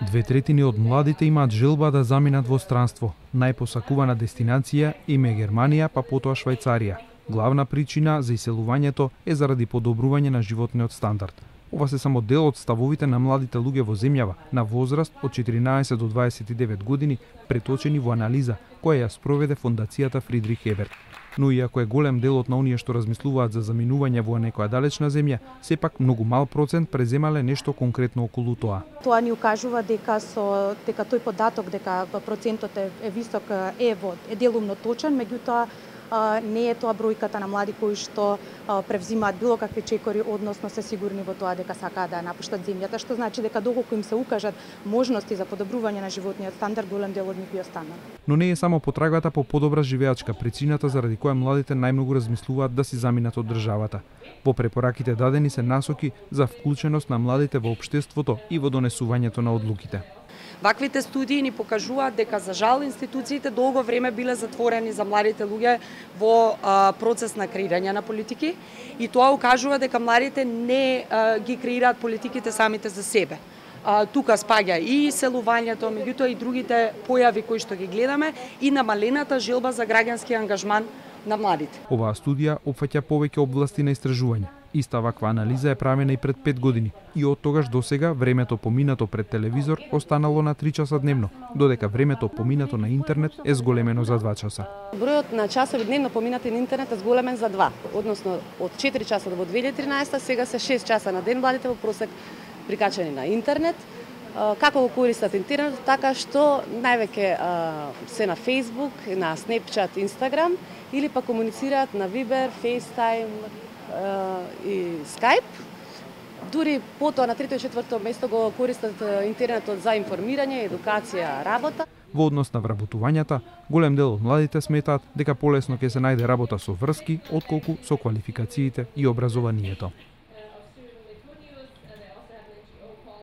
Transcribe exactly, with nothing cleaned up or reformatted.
Две третини од младите имаат желба да заминат во странство. Најпосакувана дестинација им е Германија, па потоа Швајцарија. Главна причина за иселувањето е заради подобрување на животниот стандард. Ова се само дел од ставовите на младите луѓе во земјава на возраст од четиринаесет до дваесет и девет години, преточени во анализа која ја спроведе фондацијата Фридрих Еберт. Но иако е голем делот на оние што размислуваат за заминување во некоја далечна земја, сепак многу мал процент преземале нешто конкретно околу тоа. Тоа ни укажува дека со дека тој податок дека процентот е, е висок е во е делумно точен, меѓутоа не е тоа бројката на млади кои што превзимаат било какви чекори, односно се сигурни во тоа дека сакаат да напуштат земјата, што значи дека доколку им се укажат можности за подобрување на животниот стандард, голем дел од нив би останал. Но не е само потрагата по подобра живеачка причината заради која младите најмногу размислуваат да си заминат од државата. Во препораките дадени се насоки за вклученост на младите во општеството и во донесувањето на одлуките. Ваквите студии ни покажуваат дека за жал институциите долго време биле затворени за младите луѓе во а, процес на креирање на политики и тоа укажува дека младите не а, ги креираат политиките самите за себе. А, тука спаѓа и иселувањето, меѓутоа и другите појави кои што ги гледаме и намалената желба за граѓански ангажман на младите. Оваа студија опфаќа повеќе области на истражување. Иста ваква анализа е правена и пред пет години и од тогаш до сега времето поминато пред телевизор останало на три часа дневно, додека времето поминато на интернет е зголемено за два часа. Бројот на часови дневно поминати на интернет е зголемен за два, односно од четири часа во две илјади и тринаесетта, сега се шест часа на ден младите во просек прикачени на интернет. Како го користат интернет, така што највеќе се на Facebook, на Snapchat, Instagram или па комуницираат на Viber, FaceTime и Skype. Дури потоа на трето и четврто место го користат интернетот за информирање, едукација, работа. Во однос на вработувањата, голем дел од младите сметаат дека полесно ќе се најде работа со врски отколку со квалификациите и образованието.